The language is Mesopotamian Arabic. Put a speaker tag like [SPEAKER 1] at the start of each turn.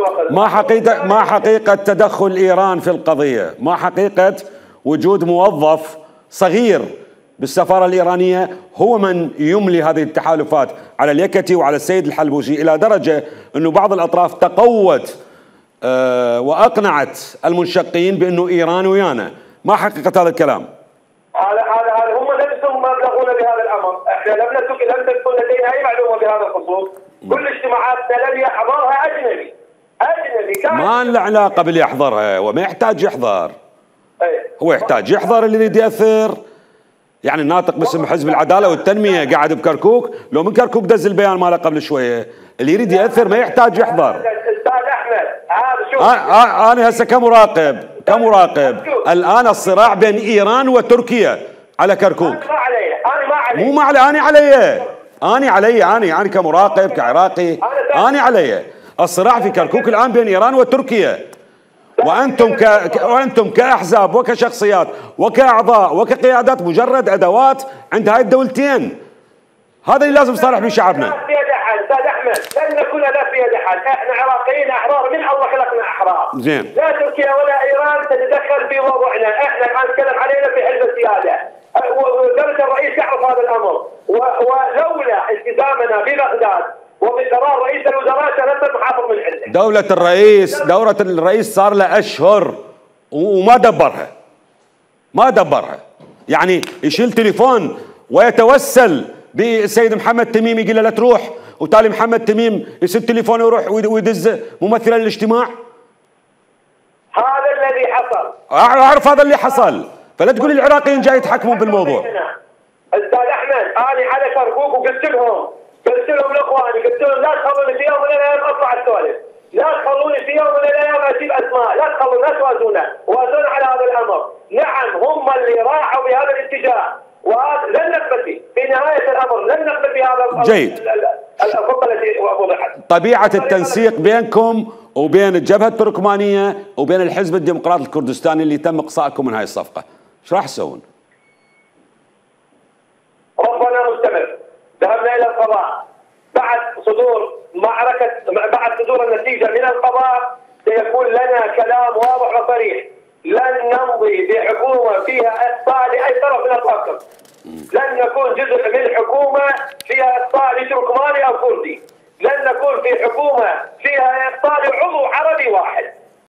[SPEAKER 1] الوقت.
[SPEAKER 2] ما حقيقة تدخل إيران في القضية؟ ما حقيقة وجود موظف صغير بالسفارة الإيرانية هو من يملي هذه التحالفات على اليكتي وعلى السيد الحلبوشي، إلى درجة أنه بعض الأطراف تقوت وأقنعت المنشقين بأنه إيران ويانا؟ ما حقيقة هذا الكلام؟
[SPEAKER 1] هذا هم نفسهم ما بلغونا بهذا الأمر، احنا لم تكن لدينا أي معلومة بهذا الخصوص، كل اجتماعاتنا لم يحضرها أجنبي
[SPEAKER 2] ما له علاقة باللي يحضرها، وما يحتاج يحضر. هو يحتاج يحضر اللي يريد يأثر. يعني الناطق باسم حزب العدالة والتنمية قاعد بكركوك، لو من كركوك دز البيان ماله قبل شوية، اللي يريد يأثر ما يحتاج يحضر.
[SPEAKER 1] أستاذ أحمد هذا شوف،
[SPEAKER 2] أنا هسه كمراقب الآن الصراع بين إيران وتركيا على كركوك.
[SPEAKER 1] أنا ما علي.
[SPEAKER 2] مو ما علي، أنا علي أنا كمراقب كعراقي، أنا علي الصراع في كركوك الآن بين إيران وتركيا، وأنتم كأحزاب وكشخصيات وكأعضاء وكقيادات مجرد أدوات عند هاي الدولتين. هذا اللي لازم نصالح به شعبنا.
[SPEAKER 1] لا في يد أحد أستاذ أحمد، لن نكون لا في يد أحد، احنا عراقيين أحرار، من الله خلقنا أحرار.
[SPEAKER 2] زين.
[SPEAKER 1] لا تركيا ولا إيران تتدخل في وضعنا، احنا الآن نتكلم علينا في حزب السيادة، ودولة الرئيس يعرف هذا الأمر، ولولا التزامنا ببغداد وبقرار رئيس الوزراء سنصل محافظ من عنده.
[SPEAKER 2] دولة الرئيس صار له أشهر وما دبرها. يعني يشيل تليفون ويتوسل بالسيد محمد تميم يقول له لا تروح، وتالي محمد تميم يسد تليفونه ويروح ويدز ممثلا للاجتماع.
[SPEAKER 1] هذا الذي حصل.
[SPEAKER 2] أعرف هذا اللي حصل، فلا تقول العراقيين جاي يتحكمون بالموضوع.
[SPEAKER 1] أستاذ أحمد أنا على كركوك وقلت لهم لاخواني، قلت لهم لا تخلوني في يوم من الايام اطلع السولف، لا تخلوني في يوم من الايام اجيب اسماء، لا تخلونا توازونا على هذا الامر. نعم هم اللي راحوا بهذا الاتجاه، ولن نقبل في نهايه الامر لن نقبل بهذا.
[SPEAKER 2] جيد.
[SPEAKER 1] الخطه التي وضحت.
[SPEAKER 2] طبيعه التنسيق بينكم وبين الجبهه التركمانيه وبين الحزب الديمقراطي الكردستاني اللي تم اقصائكم من هاي الصفقه، ايش راح تسوون؟
[SPEAKER 1] ربنا مستمر. ذهبنا الى القضاء بعد صدور النتيجه من القضاء، سيكون لنا كلام واضح وصريح. لن نمضي بحكومه فيها اخطاء لاي طرف من الاطراف. لن نكون جزء من حكومه فيها اخطاء لتركماني او كردي. لن نكون في حكومه فيها اخطاء لعضو عربي واحد.